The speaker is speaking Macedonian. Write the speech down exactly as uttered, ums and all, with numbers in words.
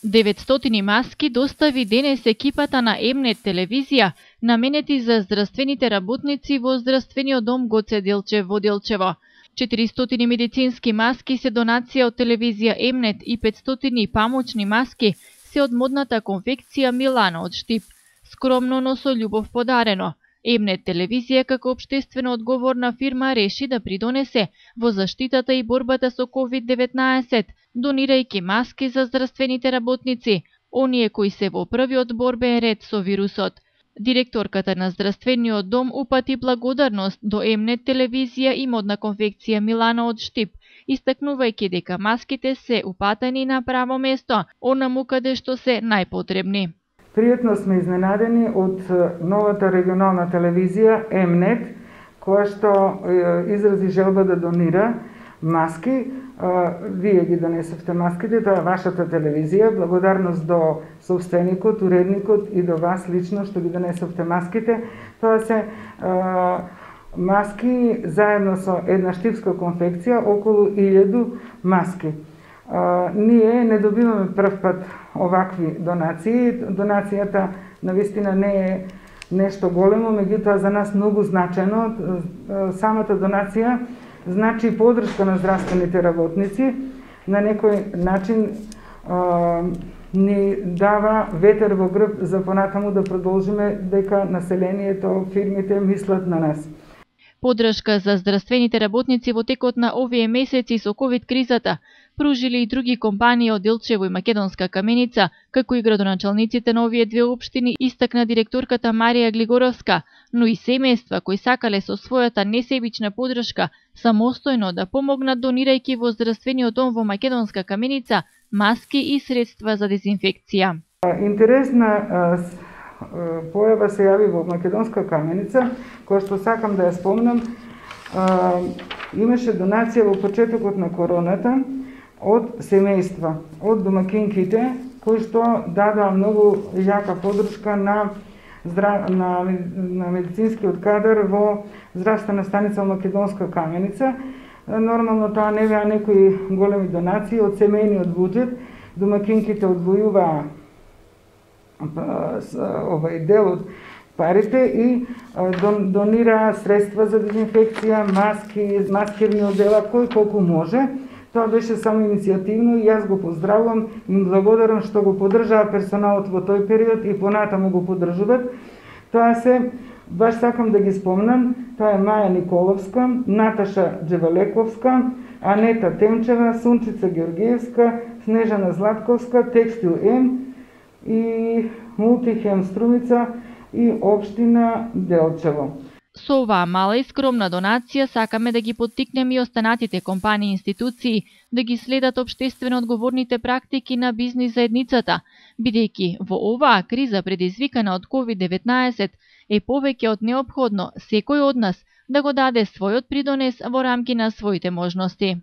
деветстотини маски достави денес екипата на Емнет телевизија, наменети за здравствените работници во здравствениот дом Гоце Делчев во Делчево. четиристотини медицински маски се донација од телевизија Емнет и петстотини памучни маски се од модната конфекција Милана од Штип. Скромно, но со љубов подарено. Емнет телевизија како општествено одговорна фирма реши да придонесе во заштитата и борбата со ковид деветнаесет, донирајќи маски за здравствените работници, оние кои се во првиот борбен ред со вирусот. Директорката на здравствениот дом упати благодарност до Емнет телевизија и модна конфекција Милана од Штип, истакнувајќи дека маските се упатени на право место, онаму каде што се најпотребни. Пријатно сме изненадени од новата регионална телевизија Емнет, која што изрази желба да донира маски. Вие ги донесовте маските, тоа е вашата телевизија. Благодарност до собственикот, уредникот и до вас лично што ги донесовте маските. Тоа се маски заедно со една штипска конфекција, околу илјаду маски. Uh, ние не добиваме прв пат овакви донации. Донацијата навистина не е нешто големо, меѓутоа за нас многу значено. Uh, самата донација значи подршка на здравствените работници, на некој начин uh, ни дава ветер во грб за понатаму да продолжиме дека населението, фирмите мислат на нас. Подршка за здравствените работници во текот на овие месеци со ковид кризата пружили и други компании од Делчево и Македонска каменица, како и градоначалниците на овие две општини, истакна директорката Марија Глигоровска, но и семејства кои сакале со својата несебична подршка самостојно да помогнат донирајќи во здравствениот дом во Македонска каменица маски и средства за дезинфекција. Интересна појава се јави во Македонска каменица, која што сакам да ја спомнам. Имаше донација во почетокот на короната од семејства, од домакинките, кои што дадоа многу јака подршка на, здрав... на, на медицинскиот кадар во здравствена станица Македонска каменица. Нормално тоа не беа некои големи донации од семејниот буџет. Домакинките одвојуваа овај дел од парите и донира средства за дезинфекција, маски, маскирни одела, кој колку може. Тоа беше само иницијативно и јас го поздравувам и им благодарам што го поддржаа персоналот во тој период и понатаму го поддржуваат. Тоа се, баш сакам да ги спомнам, тоа е Маја Николовска, Наташа Джевалековска, Анета Темчева, Сунчица Георгиевска, Снежана Златковска, Текстил М и Мултихем Струмица и општина Делчево. Со оваа мала и скромна донација сакаме да ги поттикнеме и останатите компании и институции да ги следат општествено одговорните практики на бизнис заедницата, бидејќи во оваа криза предизвикана од ковид деветнаесет е повеќе од неопходно секој од нас да го даде својот придонес во рамки на своите можности.